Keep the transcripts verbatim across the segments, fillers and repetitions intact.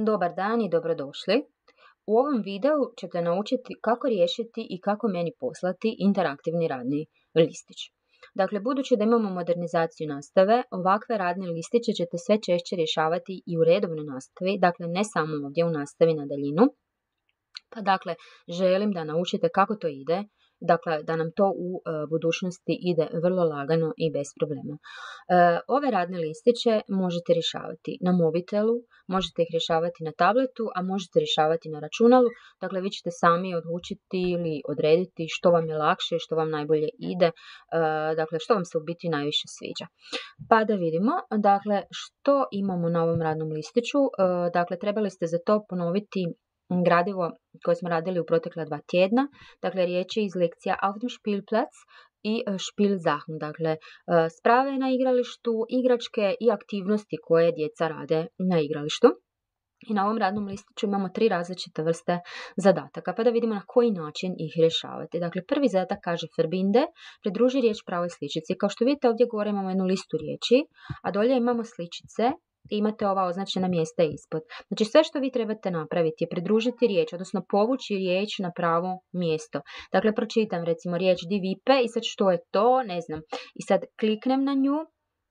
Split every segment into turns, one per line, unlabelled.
Dobar dan i dobrodošli. U ovom videu ćete naučiti kako riješiti i kako meni poslati interaktivni radni listić. Dakle, budući da imamo modernizaciju nastave, ovakve radne listiće ćete sve češće rješavati i u redovnoj nastavi, dakle ne samo ovdje u nastavi na daljinu. Pa dakle, želim da naučite kako to ide, dakle da nam to u e, budućnosti ide vrlo lagano i bez problema. E, ove radne listiće možete rješavati na mobitelu, možete ih rješavati na tabletu, a možete rješavati na računalu. Dakle, vi ćete sami odlučiti ili odrediti što vam je lakše i što vam najbolje ide, e, dakle što vam se u biti najviše sviđa. Pa da vidimo, dakle što imamo na ovom radnom listiću. E, dakle, trebali ste za to ponoviti gradivo koje smo radili u protekla dva tjedna, dakle riječi iz lekcija Auf dem Spielplatz i Spielsachen, dakle sprave na igralištu, igračke i aktivnosti koje djeca rade na igralištu. I na ovom radnom listiću imamo tri različite vrste zadataka, pa da vidimo na koji način ih rješavati. Dakle, prvi zadatak kaže verbinde, pridruži riječ pravoj sličici. Kao što vidite, ovdje gore imamo jednu listu riječi, a dolje imamo sličice. I imate ova označena mjesta ispod. Znači sve što vi trebate napraviti je pridružiti riječ, odnosno povući riječ na pravo mjesto. Dakle, pročitam recimo riječ die Wippe i sad što je to, ne znam. I sad kliknem na nju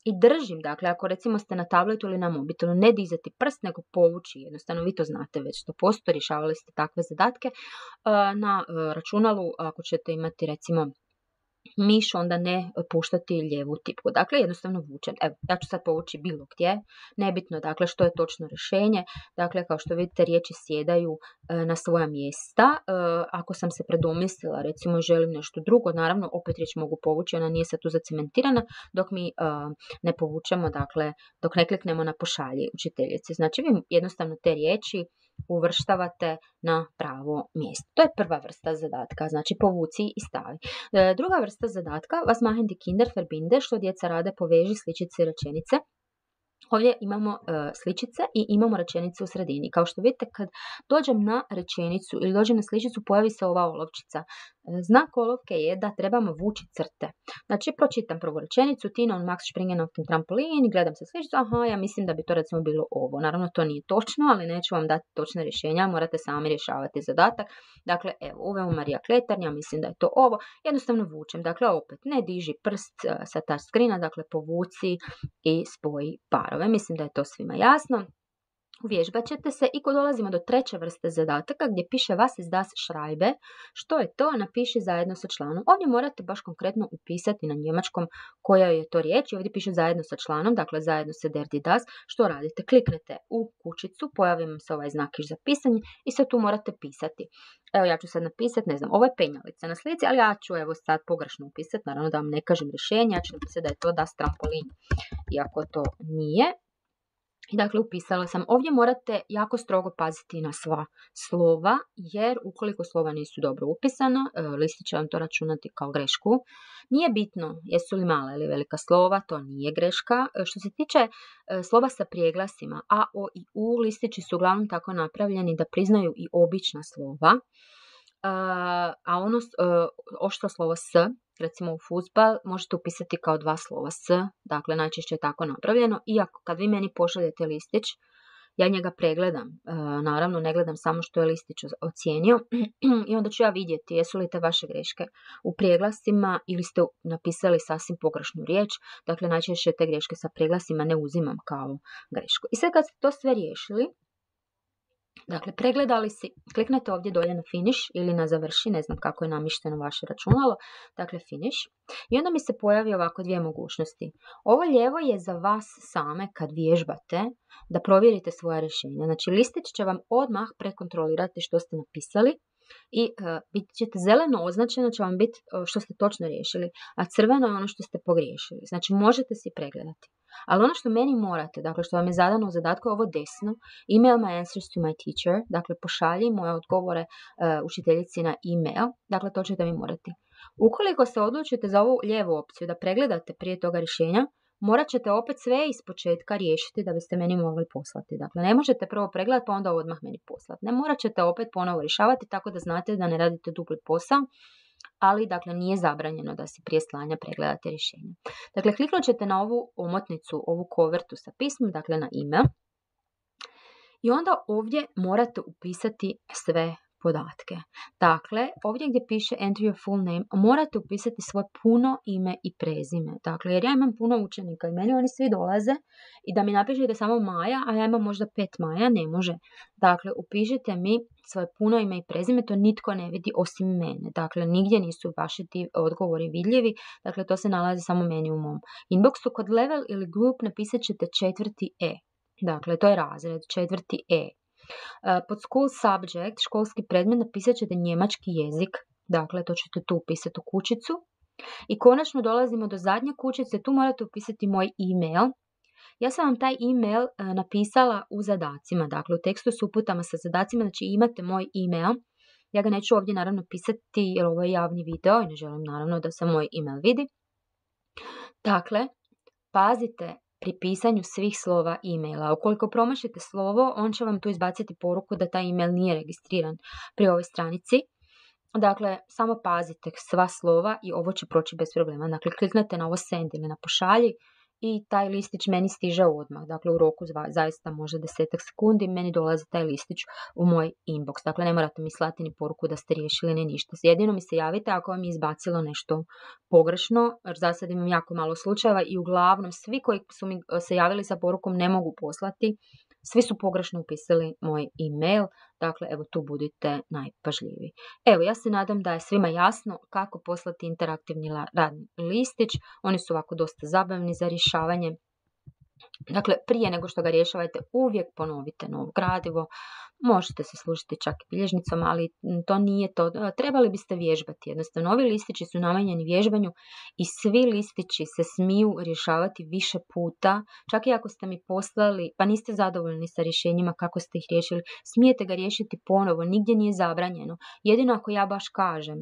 i držim, dakle ako recimo ste na tabletu ili na mobitelu, ne dizati prst nego povući, jednostavno vi to znate već sto posto, rješavali ste takve zadatke. Na računalu ako ćete imati recimo miš, onda ne puštati lijevu tipku. Dakle, jednostavno vučem. Evo, ja ću sad povući bilo gdje. Nebitno, dakle, što je točno rješenje. Dakle, kao što vidite, riječi sjedaju e, na svoja mjesta. E, ako sam se predomislila, recimo, želim nešto drugo, naravno, opet riječ mogu povući, ona nije sad tu zacementirana, dok mi e, ne povučemo, dakle, dok ne kliknemo na pošalji učiteljice. Znači, vi jednostavno te riječi uvrštavate na pravo mjesto. To je prva vrsta zadatka, znači povuci i stavi. E, druga vrsta zadatka, was machen die Kinder verbinde, što djeca rade, poveži sličice i rečenice. Ovdje imamo e, sličice i imamo rečenice u sredini. Kao što vidite, kad dođem na rečenicu ili dođem na sličicu, pojavi se ova olovčica. E, znak olovke je da trebamo vući crte. Znači, pročitam prvu rečenicu, Tina und Max springen auf den Trampolin, gledam se sličicu, aha, ja mislim da bi to recimo bilo ovo. Naravno, to nije točno, ali neću vam dati točne rješenja, morate sami rješavati zadatak. Dakle, evo, uvemo Marija Kletarn, ja mislim da je to ovo. Jednostavno vučem, dakle, opet ne diži prst sa touch screena, dakle, povuci i spoji parove. Mislim da je to svima jasno. Uvježbat ćete se i kod dolazimo do treće vrste zadataka gdje piše was ist das Schreibe. Što je to? Napiši zajedno sa članom. Ovdje morate baš konkretno upisati na njemačkom koja je to riječ. Ovdje piše zajedno sa članom, dakle zajedno sa der die das. Što radite? Kliknete u kućicu, pojavi vam se ovaj znakić za pisanje i sad tu morate pisati. Evo ja ću sad napisati, ne znam, ovo je penjalica na slici, ali ja ću evo sad pogrešno upisati, naravno da vam ne kažem rješenje, ja ću napisati da je to das Trampolin, iako to nije. I dakle, upisala sam. Ovdje morate jako strogo paziti na sva slova, jer ukoliko slova nisu dobro upisana, listić će vam to računati kao grešku. Nije bitno jesu li mala ili velika slova, to nije greška. Što se tiče slova sa prijeglasima, a, o i u, listići su uglavnom tako napravljeni da priznaju i obična slova. A ono oštro slovo s, recimo u fudbal, možete upisati kao dva slova s, dakle najčešće je tako napravljeno. Iako kad vi meni pošaljete listić, ja njega pregledam, e, naravno ne gledam samo što je listić ocijenio i onda ću ja vidjeti jesu li te vaše greške u preglasima ili ste napisali sasvim pogrešnu riječ, dakle najčešće te greške sa preglasima ne uzimam kao grešku. I sad kad ste to sve riješili, dakle, pregledali si, kliknete ovdje dolje na finish ili na završi, ne znam kako je namišteno vaše računalo, dakle finish. I onda mi se pojavi ovako dvije mogućnosti. Ovo lijevo je za vas same kad vježbate da provjerite svoje rješenja. Znači, listić će vam odmah prekontrolirati što ste napisali i uh, bit ćete zeleno označeno će vam biti uh, što ste točno riješili, a crveno je ono što ste pogriješili. Znači, možete si pregledati. Ali ono što meni morate, dakle što vam je zadano u zadatku, ovo desno, email my answers to my teacher, dakle pošalji moje odgovore uh, učiteljici na email, dakle to ćete mi morati. Ukoliko se odlučite za ovu lijevu opciju da pregledate prije toga rješenja, morat ćete opet sve iz početka riješiti da biste meni mogli poslati. Dakle, ne možete prvo pregledati pa onda odmah meni poslati. Ne, morat ćete opet ponovo rješavati tako da znate da ne radite dupli posao, ali dakle nije zabranjeno da si prije slanja pregledate rješenje. Dakle, kliknut ćete na ovu omotnicu, ovu kovertu sa pismom, dakle na email. I onda ovdje morate upisati sve podatke. Dakle, ovdje gdje piše enter your full name, morate upisati svoje puno ime i prezime. Dakle, jer ja imam puno učenika i meni oni svi dolaze i da mi napišete samo Maja, a ja imam možda pet Maja, ne može. Dakle, upišite mi svoje puno ime i prezime, to nitko ne vidi osim mene. Dakle, nigdje nisu vaši ti odgovori vidljivi, dakle, to se nalazi samo meni u mom inboxu. Kod level ili group napisat ćete četvrti E. Dakle, to je razred, četvrti E. Pod school subject, školski predmet, napisat ćete njemački jezik, dakle to ćete tu upisati u kućicu. I konačno dolazimo do zadnje kućice, tu morate upisati moj e-mail. Ja sam vam taj e-mail napisala u zadacima, dakle u tekstu s uputama sa zadacima, znači imate moj e-mail. Ja ga neću ovdje naravno pisati jer ovo je javni video i ne želim naravno da se moj e-mail vidi. Dakle, pazite pri pisanju svih slova e-maila. Ukoliko promašite slovo, on će vam tu izbaciti poruku da taj e-mail nije registriran pri ovoj stranici. Dakle, samo pazite sva slova i ovo će proći bez problema. Dakle, kliknete na ovo send ili na pošalji i taj listić meni stiže odmah. Dakle, u roku zaista možda desetak sekundi meni dolazi taj listić u moj inbox. Dakle, ne morate mi slati ni poruku da ste riješili ni ništa. Jedino mi se javite ako vam je izbacilo nešto pogrešno, jer za sad imam jako malo slučajeva i uglavnom svi koji su mi se javili sa porukom ne mogu poslati, svi su pogrešno upisali moj e-mail. Dakle, evo tu budite najpažljiviji. Evo, ja se nadam da je svima jasno kako poslati interaktivni radni listić. Oni su ovako dosta zabavni za rješavanje. Dakle, prije nego što ga rješavate, uvijek ponovite novo gradivo. Možete se služiti čak i bilježnicom, ali to nije to. Trebali biste vježbati. Jednostavno, ovi listići su namijenjeni vježbanju i svi listići se smiju rješavati više puta. Čak i ako ste mi poslali, pa niste zadovoljni sa rješenjima kako ste ih riješili, smijete ga riješiti ponovo, nigdje nije zabranjeno. Jedino ako ja baš kažem,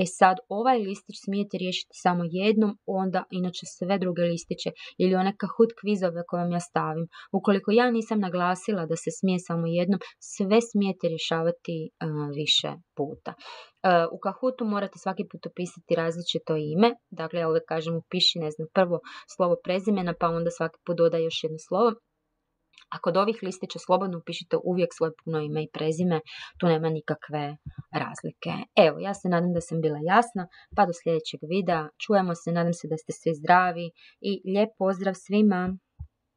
e sad ovaj listić smijete riješiti samo jednom, onda inače sve druge listiće ili one Kahoot kvizove koje vam ja stavim. Ukoliko ja nisam naglasila da se smije samo jednom, sve smijete rješavati uh, više puta. Uh, u Kahootu morate svaki put upisati različito ime, dakle ja uvijek kažem upiši, ne znam, prvo slovo prezimena, pa onda svaki put dodaj još jedno slovo. A kod ovih listića slobodno upišite uvijek svoje puno ime i prezime, tu nema nikakve razlike. Evo, ja se nadam da sam bila jasna, pa do sljedećeg videa. Čujemo se, nadam se da ste svi zdravi i lijep pozdrav svima!